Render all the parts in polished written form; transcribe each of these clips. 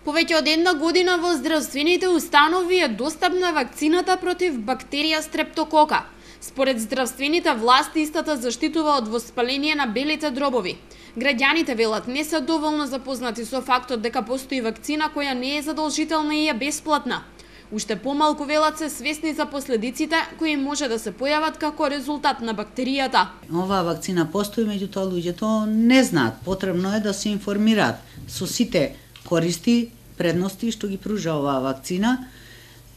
Повеќе од една година во здравствените установи е достапна вакцината против бактерија стрептокока. Според здравствените власти, истата заштитува од воспаление на белите дробови. Граѓаните велат не се доволно запознати со фактот дека постои вакцина која не е задолжителна и е бесплатна. Уште помалку велат се свесни за последиците кои може да се појават како резултат на бактеријата. Оваа вакцина постои, меѓутоа луѓето не знаат. Потребно е да се информираат со сите користи, предности што ги пружа оваа вакцина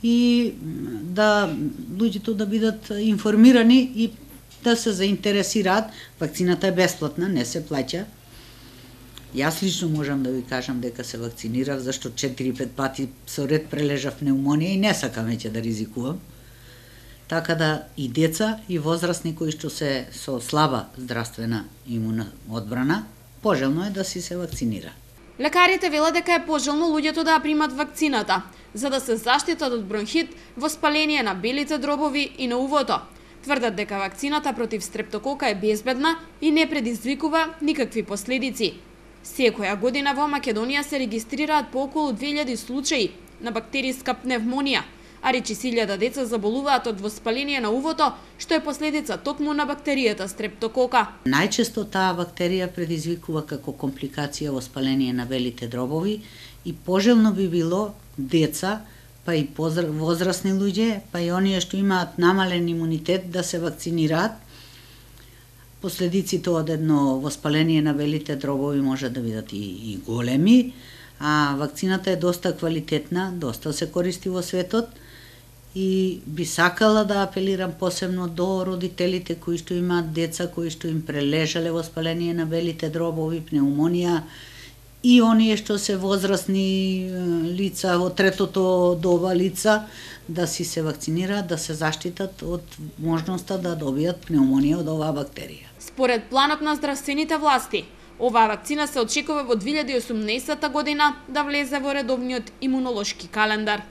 и да луѓето да бидат информирани и да се заинтересираат. Вакцината е бесплатна, не се плаќа. Јас лично можам да ви кажам дека се вакцинирав, зашто 4-5 пати со ред прележав пневмонија и не сакам веќе да ризикувам. Така да и деца и возрастни кои што се со слаба здравствена имуна одбрана, пожелно е да си се вакцинира. Лекарите велат дека е пожелно луѓето да ја примат вакцината, за да се заштитат од бронхит, воспаление на белите дробови и на увото. Тврдат дека вакцината против стрептокока е безбедна и не предизвикува никакви последици. Секоја година во Македонија се регистрираат по околу 2000 случаи на бактериска пневмонија, а речи 1000 деца заболуваат од воспаление на увото, што е последица токму на бактеријата стрептокока. Најчесто таа бактерија предизвикува како компликација воспаление на белите дробови и пожелно би било деца, па и возрастни луѓе, па и оние што имаат намален имунитет да се вакцинираат. Последиците од едно воспаление на белите дробови може да бидат и големи, а вакцината е доста квалитетна, доста се користи во светот и би сакала да апелирам посебно до родителите кои што имаат деца кои што им прележале воспаление на белите дробови, пневмонија и оние што се возрастни лица, од третото доба лица, да си се вакцинираат, да се заштитат од можноста да добијат пневмонија од оваа бактерија. Според планот на здравствените власти, оваа вакцина се очекува во 2018 година да влезе во редовниот имунолошки календар.